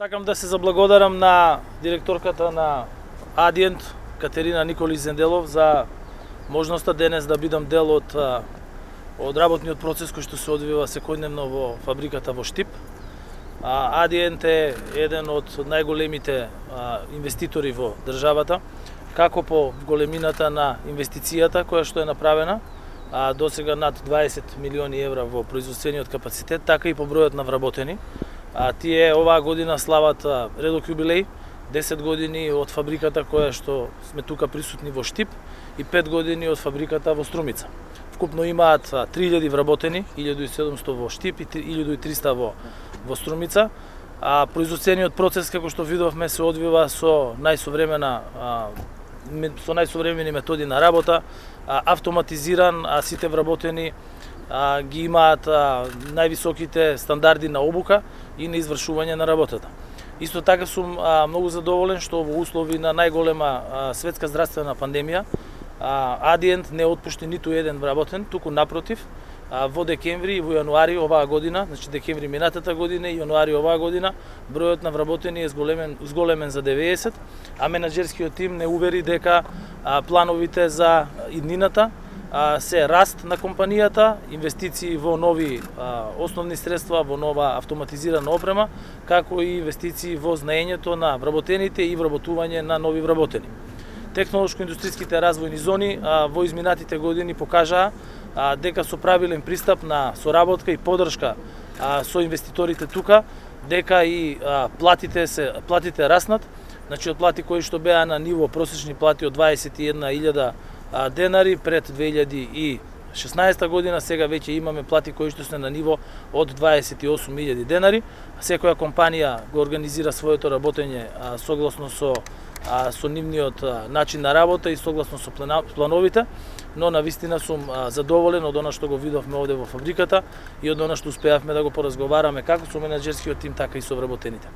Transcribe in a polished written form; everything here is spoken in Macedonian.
Сакам да се заблагодарам на директорката на Адиент, Катерина Николич Зенделов, за можноста денес да бидам дел од работниот процес кој што се одвива секојдневно во фабриката во Штип. Адиент е еден од најголемите инвеститори во државата, како по големината на инвестицијата која што е направена, досега над 20 милиони евра во производствениот капацитет, така и по бројот на вработени. Тие оваа година слават редок јубилеј, 10 години од фабриката која што сме тука присутни во Штип и 5 години од фабриката во Струмица. Вкупно имаат 3000 вработени, 1700 во Штип и 1300 во Струмица. Производствениот процес, како што видовме, се одвива со најсовремени методи на работа, автоматизиран, а сите вработени ги имаат највисоките стандарди на обука и на извршување на работата. Исто така сум многу задоволен што во услови на најголема светска здравствена пандемија Адиент не отпушти ниту еден вработен, туку напротив, во декември и во јануари оваа година, значи декември минатата година и јануари оваа година, бројот на вработени е зголемен за 90, а менаџерскиот тим не увери дека плановите за иднината се раст на компанијата, инвестиции во нови основни средства, во нова автоматизирана опрема, како и инвестиции во знаењето на вработените и вработување на нови вработени. Технолошко-индустријските развојни зони во изминатите години покажаа дека со правилен пристап на соработка и поддршка со инвеститорите тука, дека и платите раснат, значи од плати кои што беа на ниво просечни плати од 21.000 денари пред 2016 година, сега веќе имаме плати кои што се на ниво од 28.000 денари. Секоја компанија го организира своето работење согласно со нивниот начин на работа и согласно со плановите, но навистина сум задоволен од она што го видовме овде во фабриката и од она што успеавме да го поразговараме како со менаџерскиот тим, така и со вработените.